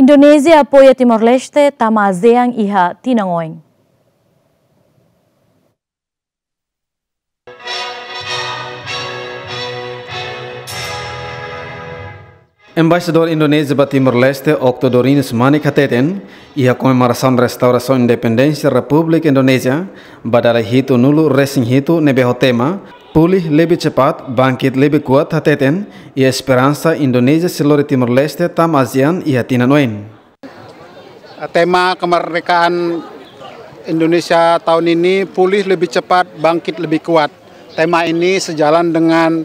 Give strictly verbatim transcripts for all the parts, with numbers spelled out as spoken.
Indonézia apoia Timor-Leste tama ASEAN iha tinan oin. Embaixadór Indonézia ba Timor-Leste, Octo Dorinus Manik hateten, iha komemorasaun restaurasaun independénsia Repúblika Indonézia ba dala hitunulu resin hitu ne'ebé ho tema Pulih Lebih Cepat, Bangkit Lebih Kuat hateten, iha esperansa Indonézia sei lori Timor-Leste tama ASEAN iha tinan oin. Tema kemerdekaan Indonesia tahun ini, Pulih Lebih Cepat, Bangkit Lebih Kuat. Tema ini sejalan dengan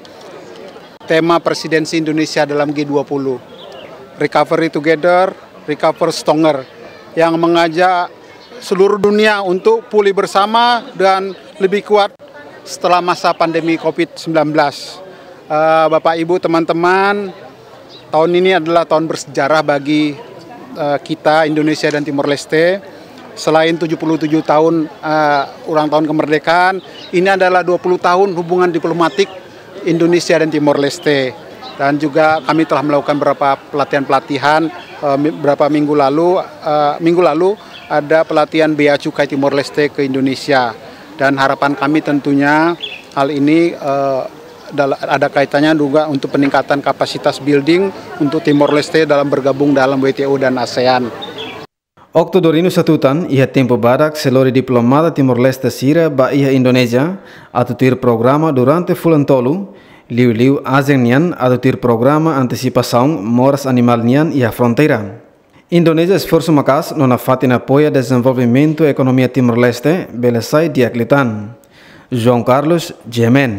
tema presidensi Indonesia dalam G dua puluh, Recovery Together, Recover Stronger, yang mengajak seluruh dunia untuk pulih bersama dan lebih kuat setelah masa pandemi covid sembilan belas. Eh, Bapak, Ibu, teman-teman, tahun ini adalah tahun bersejarah bagi, eh, kita, Indonesia dan Timor Leste. Selain tujuh puluh tujuh tahun, eh, ulang tahun kemerdekaan, ini adalah dua puluh tahun hubungan diplomatik Indonesia dan Timor Leste. Dan juga kami telah melakukan beberapa pelatihan-pelatihan, eh, mi-, beberapa minggu lalu, eh, minggu lalu ada pelatihan Bea Cukai Timor Leste ke Indonesia. Dan harapan kami tentunya hal ini, eh, dal-, ada kaitannya juga untuk peningkatan kapasitas building untuk Timor Leste dalam bergabung dalam W T O dan ASEAN. Octo Dorinus hatutan, iha tempu badak sei lori diplomata Timor-Leste sira ba iha Indonézia atu tuir programa durante fulan tolu, liuliu ASEAN nian atu tuir programa antesipasaun moras animál nian iha fronteira. Indonézia esforsu maka'as no nafatin apoia dezenvolvimentu ekonomia Timor-Leste bele sai di'ak liután. João Carlos, G M N.